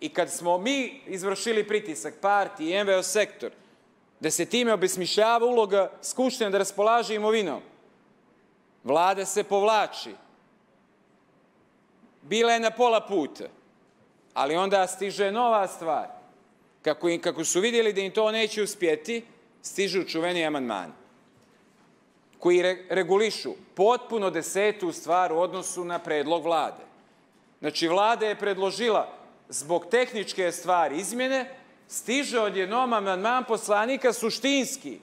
i kad smo mi izvršili pritisak partiji i MVO sektor, da se time obesmišljava uloga Skupštine da raspolaže imovinom, Vlada se povlači. Bila je na pola puta, ali onda stiže nova stvar. Kako su vidjeli da im to neće uspjeti, stižu čuveni amandmani koji regulišu potpuno 10. stvar u odnosu na predlog Vlade. Znači, Vlada je predložila zbog tehničke stvari izmjene, stiže odjednom amandman poslanika suštinski,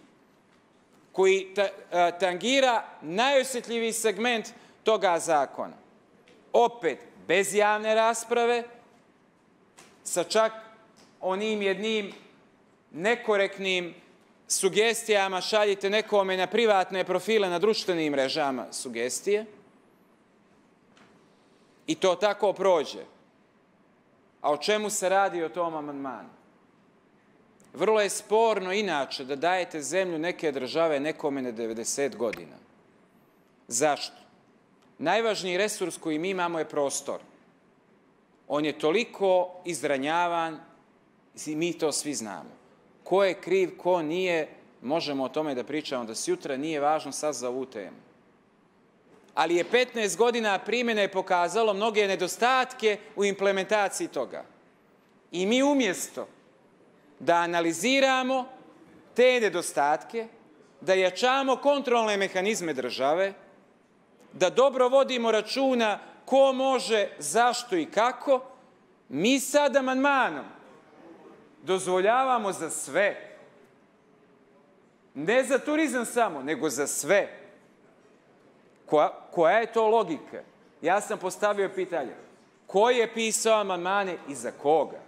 koji tangira najosjetljiviji segment toga zakona. Opet, bez javne rasprave, sa čak onim jednim nekorektnim sugestijama, šaljite nekome na privatne profile na društvenim mrežama sugestije i to tako prođe. A o čemu se radi o tom amandmanu? Vrlo je sporno inače da dajete zemlju neke države nekome na 90 godina. Zašto? Najvažniji resurs koji mi imamo je prostor. On je toliko izranjavan, i mi to svi znamo. Ko je kriv, ko nije, možemo o tome da pričamo da sutra, nije važno sad za ovu temu. Ali je 15 godina primjene pokazalo mnoge nedostatke u implementaciji toga. I mi umjesto da analiziramo te nedostatke, da jačamo kontrolne mehanizme države, da dobro vodimo računa ko može, zašto i kako, mi sad amandmanom dozvoljavamo za sve. Ne za turizam samo, nego za sve. Koja je to logika? Ja sam postavio pitanje. Ko je pisao amandmane i za koga?